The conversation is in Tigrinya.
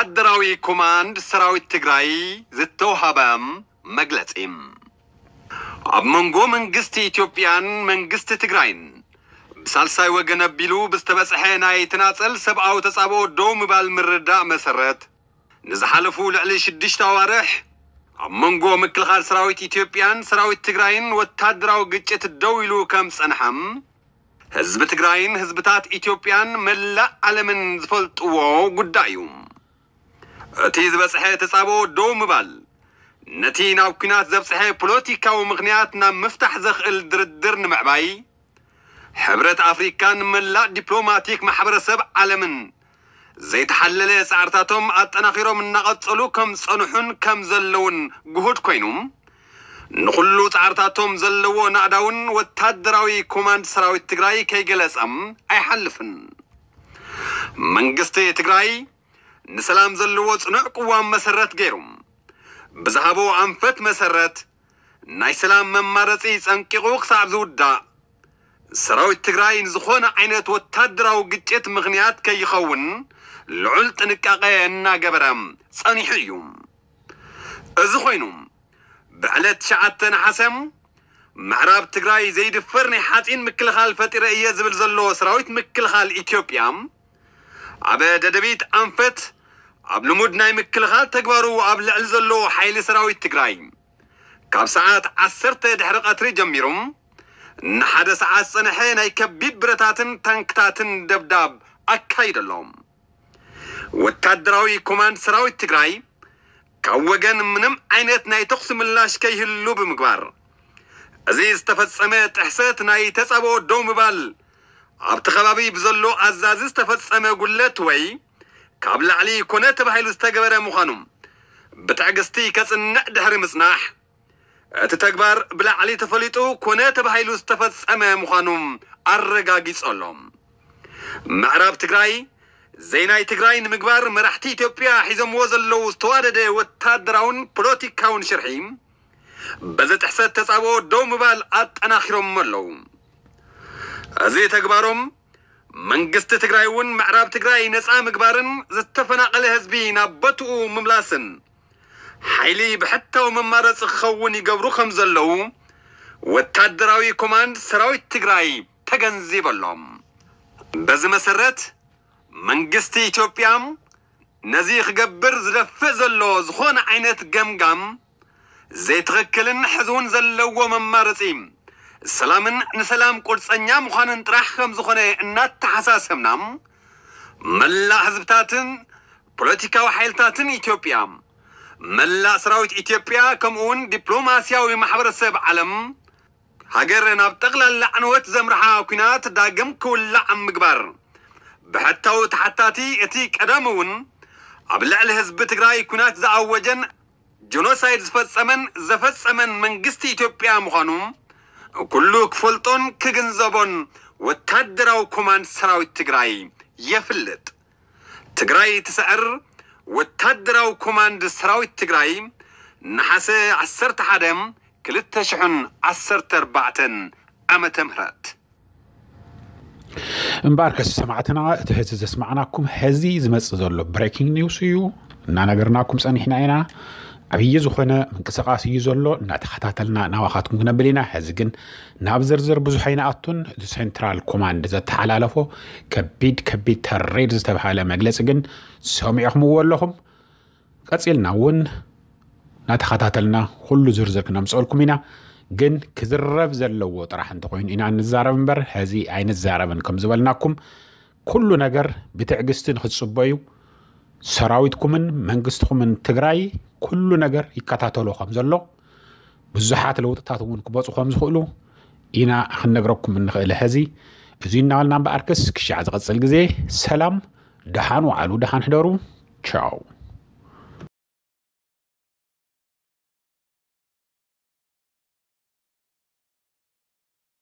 ወታደራዊ ኮማንድ ሰራዊት ትግራይ ዝተውሃበ መግለጺ። ኣብ መንጎ መንግስቲ ኢትዮጵያን መንግስቲ ትግራይን ብሳልሳይ ወገን ኣቢሉ ብዝተበጽሐ ናይ ተናጸል ሰብኣዊ ተጻብኦ ደው ምባል ምርዳእ መሰረት፣ ንዝሓለፉ ልዕሊ ሽዱሽተ ኣዋርሕ ኣብ መንጎ ምክልኻል ሰራዊት ኢትዮጵያን ሰራዊት ትግራይን ወታደራዊ ግጭት ደው ኢሉ ከም ዝጸንሐ ህዝቢ ትግራይን ህዝብታት ኢትዮጵያን መላእ ዓለምን ዝፈልጥዎ ጉዳይ እዩ። እቲ ዝበጽሐ ተጻብኦ ደው ምባል፣ ነቲ ናብ ኲናት ዘብጽሐ ፖለቲካዊ ምኽንያት ናብ ምፍታሕ ዘኽእል ድርድር ንምዕባይ፣ ሕብረት ኣፍሪካን መላእ ዲፕሎማቲክ ማሕበረሰብ ዓለምን ዘይተሓለለ ጻዕርታቶም ኣጠናኺሮም እናቐጸሉ ከም ዝጸንሑን ከም ዘለውን ግሁድ ኮይኑ፣ ንኹሉ ጻዕርታቶም ዘለዎ ናእዳውን ወታደራዊ ኮማንድ ሰራዊት ትግራይ ከይገለጸም ኣይሓልፍን። መንግስቲ ትግራይ ንሰላም ዘለዎ ጽኑዕ ቅዋም መሰረት ገይሩ ብዝሃቦ ኣንፈት መሰረት፣ ናይ ሰላም መማረጺ ጸንቂቑ ክሳብ ዝውዳእ፣ ሰራዊት ትግራይ ንዝኾነ ዓይነት ወታደራዊ ግጭት ምኽንያት ከይኸውን ልዑል ጥንቃቐ እናገበረ ጸኒሑ እዩ። እዚ ኮይኑ፣ ብዕለት ትሽዓተ ነሓሰ ምዕራብ ትግራይ ዘይድፈር ናይ ሓፂን ምክልኻል ፈጢረ እየ ዝብል ዘሎ ሰራዊት ምክልኻል ኢትዮጵያ፣ ኣብ ደደቢት ኣንፈት ኣብ ልሙድ ናይ ምክልኻል ተግባሩ ኣብ ልዕሊ ዘሎ ሓይሊ ሰራዊት ትግራይ፣ ካብ ሰዓት ዓሰርተ ድሕሪ ቀትሪ ጀሚሩ ንሓደ ሰዓት ዝጸንሐ ናይ ከቢድ ብረታትን ታንክታትን ደብዳብ ኣካይዱ ኣሎ። ወታደራዊ ኮማንድ ሰራዊት ትግራይ ካብ ወገን ምንም ዓይነት ናይ ተኹሲ ምላሽ ከይህሉ ብምግባር፣ እዚ ዝተፈጸመ ጥሕሰት ናይ ተጻብኦ ደው ምባል ኣብቲ ከባቢ ብዘሎ ኣዛዚ ዝተፈጸመ ጉድለት ወይ ካብ ላዕሊ ኮነ ተባሂሉ ዝተገበረ ምዃኑ ብትዕግስቲ ከጽንዕ ድሕሪ ምጽናሕ፣ እቲ ተግባር ብላዕሊ ተፈሊጡ ኮነ ተባሂሉ ዝተፈጸመ ምዃኑ ኣረጋጊጹ ኣሎ። ምዕራብ ትግራይ ዘይናይ ትግራይ ንምግባር መራሕቲ ኢትዮጵያ ሒዞምዎ ዘለዉ ዝተዋደደ ወታደራውን ፖለቲካውን ሽርሒ በዚ ጥሕሰት ተጻብኦ ደው ምባል ኣጠናኺሮም ኣለዉ። እዚ ተግባሮም መንግስቲ ትግራይ እውን ምዕራብ ትግራይ ነፃ ምግባርን ዝተፈናቐለ ህዝቢ ናብ ቦትኡ ምምላስን ሓይሊ ብሕታዊ መማረፂ ክኸውን ይገብሩ ከም ዘለዉ ወታደራዊ ኮማንድ ሰራዊት ትግራይ ተገንዚቡ ኣሎ። በዚ መሰረት መንግስቲ ኢትዮጵያ ነዚ ክገብር ዝደፍእ ዘሎ ዝኾነ ዓይነት ገምጋም ዘይትኽክልን ሕዚ እውን ዘለዎ መማረፂ ሰላምን ንሰላም ቁርፀኛ ምዃንን ጥራሕ ከም ዝኾነ እናተሓሳሰብና፣ መላእ ህዝብታትን ፖለቲካዊ ሓይልታትን ኢትዮጵያ፣ መላእ ሰራዊት ኢትዮጵያ ከምኡ እውን ዲፕሎማስያዊ ማሕበረሰብ ዓለም፣ ሃገር ናብ ጠቕላላ ዕንወት ዘምርሓ ኲናት ዳግም ክውላዕ ኣብ ምግባር ብሕታዊ ተሓታቲ እቲ ቀዳሚ እውን ኣብ ልዕሊ ህዝቢ ትግራይ ኲናት ዝኣወጀን ጀኖሳይድ ዝፈጸመን ዘፈጸመን መንግስቲ ኢትዮጵያ ምዃኑ ኩሉ ክፈልጦን ክግንዘቦን ወታደራዊ ኮማንድ ሰራዊት ትግራይ የፍልጥ። ትግራይ ትስዕር ወታደራዊ ኮማንድ ሰራዊት ትግራይ ነሓሰ ዓሰርተ ሓደ ክልተ ሽሕን ዓሰርተ ኣርባዕተን ዓመተ ምህረት። እምበኣርከስ ሰማዕትና፣ እቲ ሕዚ ዘስማዕናኩም ሕዚ ዝመጽእ ዘሎ ብሬኪንግ ኒውስ እዩ። እናነገርናኩም ጸኒሕና ኢና። ዓብዪ ዝኾነ ምንቅስቓስ እዩ ዘሎ፣ እናተኸታተልና ናባኻትኩም ክነብል ኢና። ሕዚ ግን ናብ ዝርዝር ብዙሕ ኣይንኣቱን። እቲ ሴንትራል ኮማንድ ዘተሓላለፎ ከቢድ ከቢድ ተሬድ ዝተባሃለ መግለጺ ግን ሰሚዕኹምዎ ኣለኹም። ቀጺልና እውን እናተኸታተልና ኩሉ ዝርዝር ክነምፀልኩም ኢና። ግን ክዝረብ ዘለዎ ጥራሕ እንተኾይኑ ኢና እንዛረብ እምበር ሕዚ ኣይንዛረብን ከም ዝበልናኩም፣ ኩሉ ነገር ብትዕግስቲ ንክትጽበዩ፣ ሰራዊትኩምን መንግስትኹምን ትግራይ ኩሉ ነገር ይከታተሎ ከም ዘሎ፣ ብዙሓት ለውጥታት እውን ክመፁ ከም ዝኽእሉ ኢና ክንነግረኩም እንኽእል። ሕዚ እዚ እናበልና እምበኣርከስ ክሻዕ ዝቐፅል ግዜ ሰላም፣ ደሓን ዋዕሉ፣ ደሓን ሕደሩ። ቻው።